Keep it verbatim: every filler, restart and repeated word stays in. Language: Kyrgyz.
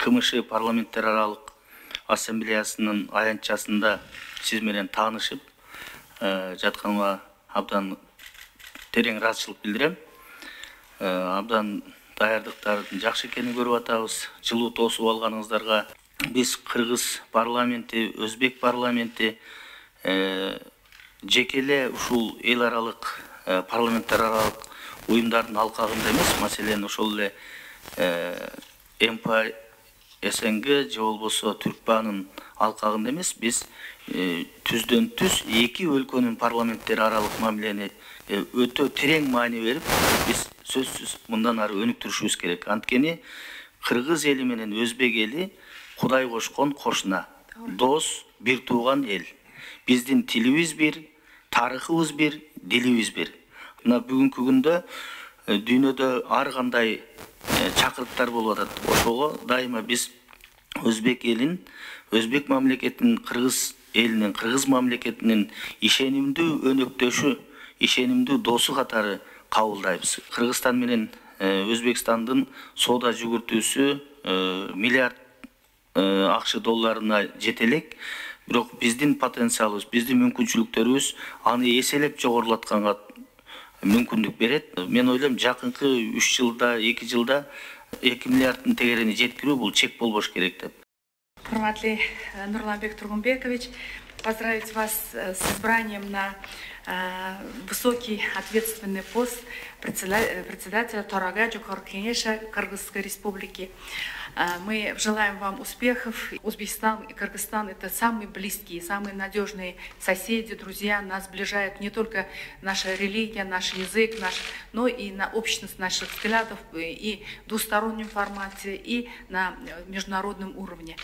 КМШ парламенттер аралык ассамблеясынын аянтчасында сиз менен таанышып жатканыма абдан терең ыраазычылык билдирем. Абдан даярдыктардын жакшы экенин көрүп атабыз. Жылуу тосуп алганыңыздарга биз кыргыз парламенти, өзбек парламенти жекеле ушул эл аралык парламенттер аралык уюмдардын алкагында эмес, маселен ошол эле МП СНГ же болбосо Түркбаанын алкагында эмес, биз түздөн түз эки өлкөнүн парламенттери аралык мамилени өтө терең маани берип, биз сөзсүз мындан ары өнүктүрүшүбүз керек. Анткени кыргыз эли менен өзбек эли Кудай кошкон кошуна, дос, бир тууган эл. Биздин тилибиз бир, тарыхыбыз бир, дилибиз бир. Мына бүгүнкү күндө дүйнөдө ар кандай чакырыктар болуп атат. Ошого дайыма биз өзбек элин, өзбек мамлекетинин кыргыз элинин, кыргыз мамлекетинин ишенимдүү өнөктөшү, ишенимдүү досу катары кабылдайбыз. Кыргызстан менен Өзбекстандын соода жүгүртүүсү миллиард акш долларына жете элек. Бирок биздин потенциалыбыз, биздин мүмкүнчүлүктөрүбүз аны эселеп жогорулатканга мүмкүндүк берет. Мен ойлойм, жакынкы үч жылда, эки жылда эки миллиарддын тегерени жеткирүү бул чек болбош керек деп. Урматтуу Нурланбек Тургунбекович, поздравить вас с избранием на высокий ответственный пост председателя Торага Жокорку Кеңеша Кыргызской Республики. Мы желаем вам успехов. Узбекистан и Кыргызстан — это самые близкие, самые надежные соседи, друзья. Нас сближает не только наша религия, наш язык, наш, но и на общность наших взглядов, и в двустороннем формате, и на международном уровне.